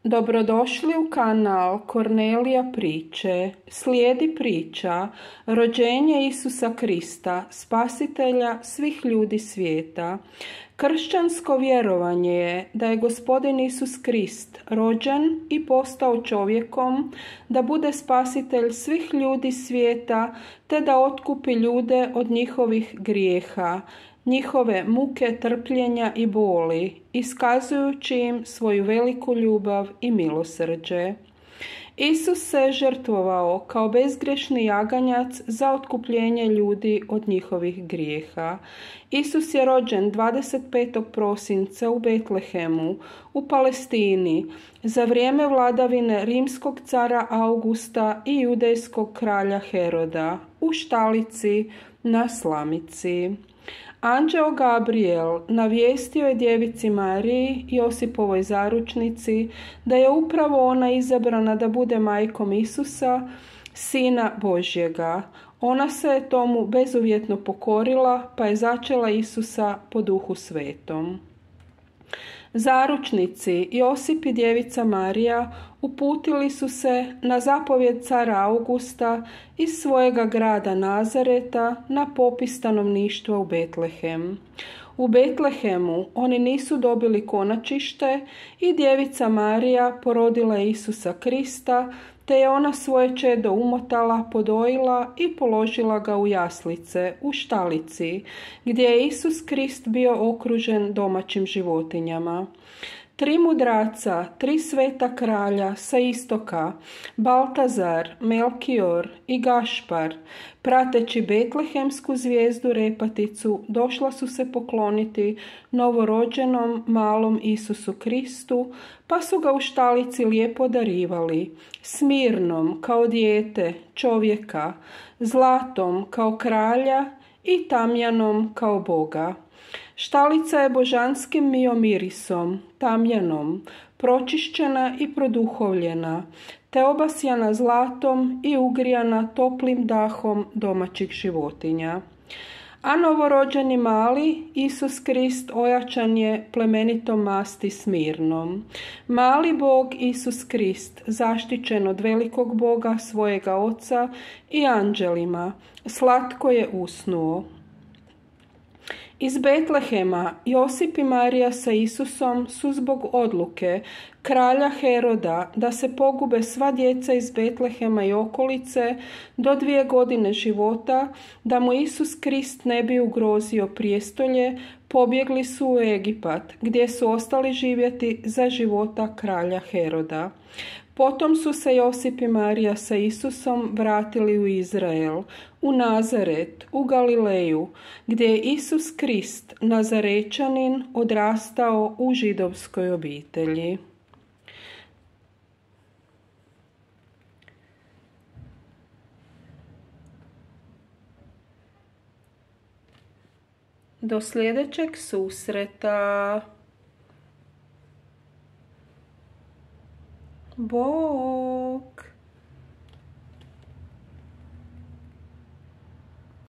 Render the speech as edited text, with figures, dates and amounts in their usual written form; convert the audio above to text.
Dobrodošli u kanal Kornelija priče. Slijedi priča rođenje Isusa Krista, spasitelja svih ljudi svijeta. Kršćansko vjerovanje je da je Gospodin Isus Krist rođen i postao čovjekom, da bude spasitelj svih ljudi svijeta, te da otkupi ljude od njihovih grijeha, njihove muke, trpljenja i boli, iskazujući im svoju veliku ljubav i milosrđe. Isus se žrtvovao kao bezgrešni jaganjac za otkupljenje ljudi od njihovih grijeha. Isus je rođen 25. prosinca u Betlehemu, u Palestini, za vrijeme vladavine rimskog cara Augusta i judejskog kralja Heroda, u štalici na slamici. Anđeo Gabriel navijestio je djevici Mariji, Josipovoj zaručnici, da je upravo ona izabrana da bude majkom Isusa, Sina Božjega. Ona se je tomu bezuvjetno pokorila, pa je začela Isusa po Duhu Svetom. Zaručnici Josip i djevica Marija uputili su se na zapovjed cara Augusta iz svojega grada Nazareta na popis stanovništva u Betlehem. U Betlehemu oni nisu dobili konačište i djevica Marija porodila je Isusa Krista, te je ona svoje čedo umotala, podojila i položila ga u jaslice, u štalici, gdje je Isus Krist bio okružen domaćim životinjama. 3 mudraca, 3 sveta kralja sa istoka, Baltazar, Melkior i Gašpar, prateći betlehemsku zvijezdu repaticu, došla su se pokloniti novorođenom malom Isusu Kristu, pa su ga u štalici lijepo darivali, smirnom kao dijete, čovjeka, zlatom kao kralja i tamjanom kao Boga. Štalica je božanskim miomirisom, tamjanom, pročišćena i produhovljena, te obasjana zlatom i ugrijana toplim dahom domaćih životinja. A novorođeni mali Isus Krist ojačan je plemenitom masti smirnom. Mali Bog Isus Krist, zaštićen od velikog Boga svojega Oca i anđelima, slatko je usnuo. Iz Betlehema Josip i Marija sa Isusom su zbog odluke kralja Heroda da se pogube sva djeca iz Betlehema i okolice do 2 godine života, da mu Isus Krist ne bi ugrozio prijestolje, pobjegli su u Egipat, gdje su ostali živjeti za života kralja Heroda. Potom su se Josip i Marija sa Isusom vratili u Izrael, u Nazaret, u Galileju, gdje je Isus Krist, Nazarečanin, odrastao u židovskoj obitelji. Do sljedećeg susreta. Bog.